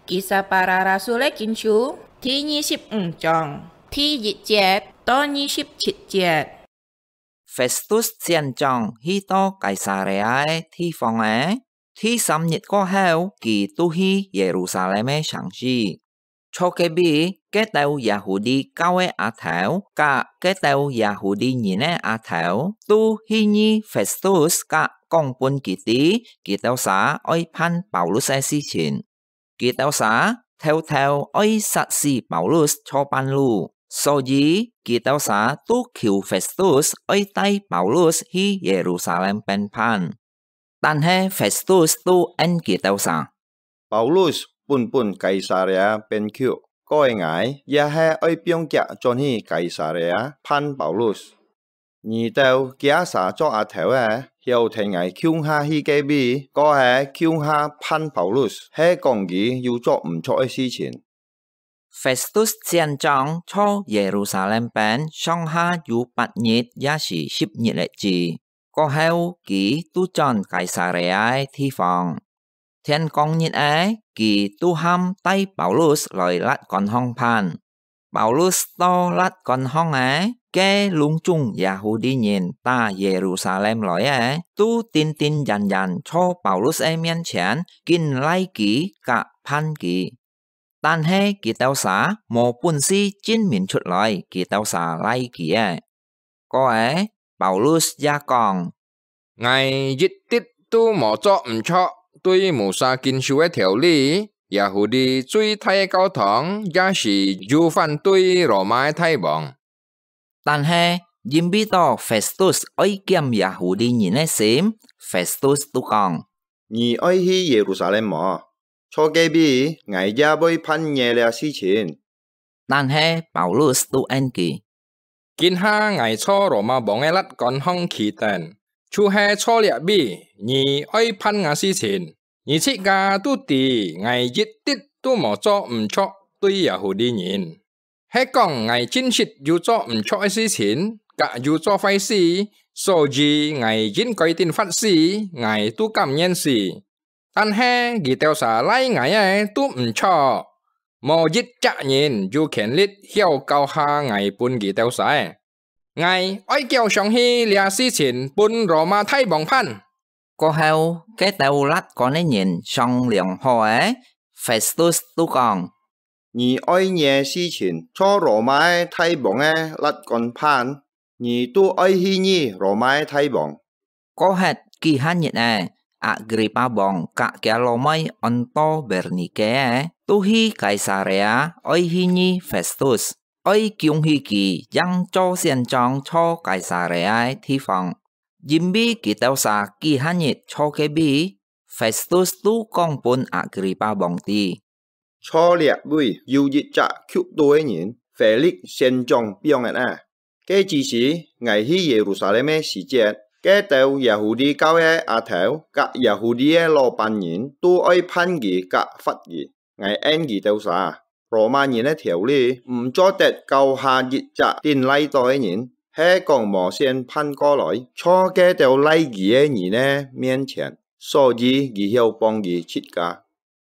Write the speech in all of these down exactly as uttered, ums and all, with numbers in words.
Kisah Para Rasul-é Kinsú第二十五章第一節到二十七節。 Festus 選將去到該撒利亞个地方仔，第三日過後，佢就去耶路撒冷个城市。坐隔壁，該兜耶戶利教个阿頭，佮該兜耶戶利人个阿頭，都去議 Festus 佮講分佢知，佢兜儕愛辦保羅个事情。 佢兜儕偷偷愛殺死保羅做伴侶，所以佢兜儕都求 Festus 愛帶保羅去耶路撒冷辦判。但係 Festus 都應佢兜儕：「保羅本本該撒利亞辦屈，過後𠊎也係愛放佢轉去該撒利亞辦保羅。 你兜厥儕做阿頭个，曉得𠊎共下去該位，過後共下辦保羅，係講佢有做毋著个事情。」 Festus 選將在耶路撒冷邊上下有八日也係十日个日子，過後佢就轉該撒利亞个地方。 天光日仔，佢就喊帶保羅來辣官項辦。保羅到辣官項仔，該攏總耶戶利人打耶路撒冷來个，都定定然然在保羅个面前，緊拉佢佮辦佢。但係佢兜儕無本事證明出來，佢兜儕拉佢个。 過後，保羅也講：「𠊎一滴都無做毋著對摩西經書个條例，耶戶利最大个教堂也係有反對羅馬个大王。」但係，因為到 Festus 愛檢耶戶利人个心，Festus 就講：「你愛去耶路撒冷無？坐隔壁，𠊎也會辦你這事情。」 但係保羅就應佢：「今下𠊎在羅馬王个辣官項企等，就係坐這位，你愛辦𠊎事情。你自家都知𠊎一滴都無做毋著對耶戶利人。係講𠊎真實有做毋著个事情，佮有做壞事，所以𠊎應該定罰死，𠊎都甘願死。 但係佢兜儕拉𠊎个都毋著，無一隻人有權力曉交下𠊎分佢兜儕。𠊎愛繳上去這事情分羅馬大王辦。」過後，該兜辣官个人商量好仔，Festus就講：「你愛你个事情在羅馬个大王个辣官辦，你就愛去議羅馬个大王。」 過歇幾下日仔，亞agrippa王佮厥老妹安到Bernike仔，就去該撒利亞愛去議Festus，愛恭喜佢贏做選將在該撒利亞个地方。因為佢兜儕幾下日坐隔壁，Festus就講分亞agrippa王知： 在這位有一隻吸毒个人，腓力先將放忒啊。該之時，𠊎去耶路撒冷个時節，該兜耶戶利教个阿頭佮耶戶利个老闆人都愛辦佢佮罰佢。𠊎應佢兜儕：羅馬人个條例毋做得交下一隻定拉到个人，係講無先辦過來，在該兜拉佢个人个面前，所以佢曉幫佢自家。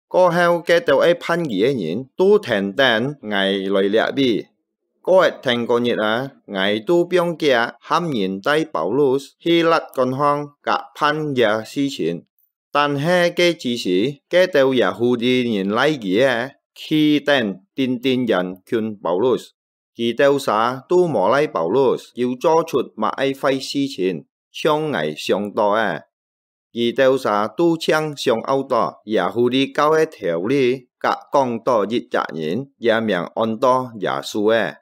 過後，該兜愛辦佢个人都跈等𠊎來這位。過一天過日啊，𠊎都放厥喊人帶Paulus去辣官項佮辦這事情。但係該之時，該兜Yahudi人拉佢个，企等定定眼近Paulus。佢兜儕都無拉Paulus有做出麼个壞事情，像𠊎想到个。 佢兜儕都淨想拗到Yahudi教个條例，佮講到一隻人，厥名安到耶穌个。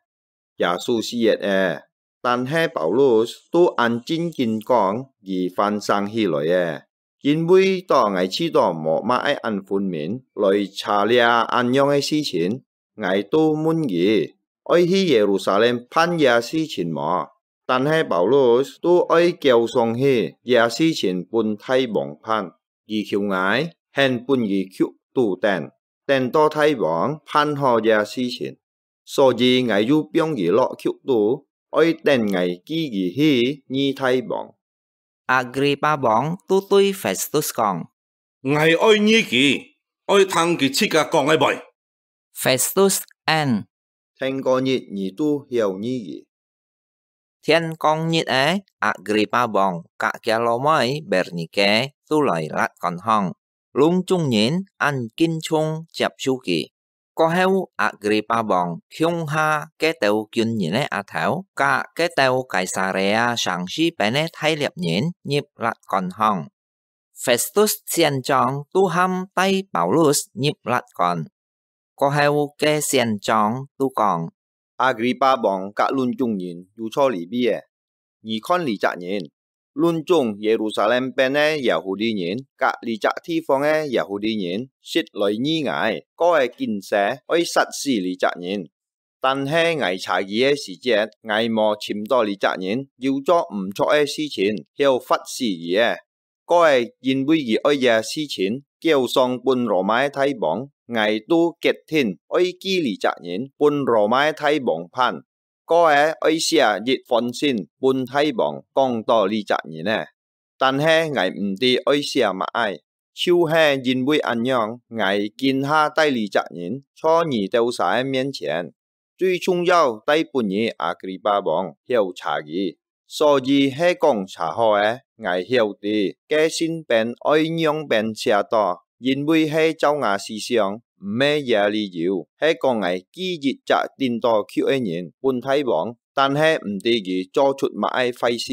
耶穌死忒了，但係Paulus都恁正經講，佢還生起來了。因為到𠊎試著無麼个恁分明，來查這恁樣个事情， 𠊎都問佢，愛去耶路撒冷辦這事情無？但係Paulus都愛交上去這事情分大王辦。佢求𠊎，肯分佢吸毒等，等到大王辦好這事情。所以𠊎又放佢落吸毒，愛等𠊎寄佢去見大王。Agrippa王都對Festus講：「𠊎愛見佢，愛聽佢自家講个會。」Festus應：「天光日你都曉議佢。」天光日仔，阿格里巴王佮厥老妹Bernike都來辣官項，攏總人恁敬重接受佢。過後，阿格里巴王共下該兜軍人个額頭，佮該兜該撒利亞城四邊个大獵人入辣官項。Festus選將都喊帶Paulus入辣官。過後，該選將都講：「阿格里巴王佮攏總人有坐這位仔，你看這隻人，攏總耶路撒冷邊个耶戶地人佮這隻地方个耶戶地人實來議𠊎，過仔緊勢愛殺死這隻人。但係𠊎查佢个時節，𠊎無尋著這隻人有做毋著个事情，曉罰死佢仔。」過仔因為佢愛這事情，交上分羅馬个大王，𠊎都決定愛記這隻人分羅馬个大王辦。過仔愛寫一封信分大王，講著這隻人仔。但係𠊎毋知愛寫麼个，就係因為恁樣，𠊎今下帶這隻人坐你兜儕个面前。 最重要，帶分你阿格里巴王曉查佢。所以係講查好仔，𠊎曉得該信篇愛仰般寫到，因為係照吾思想，毋係這理由，係講𠊎寄一隻頂到級个人分大王，但係毋知佢做出麼个壞事，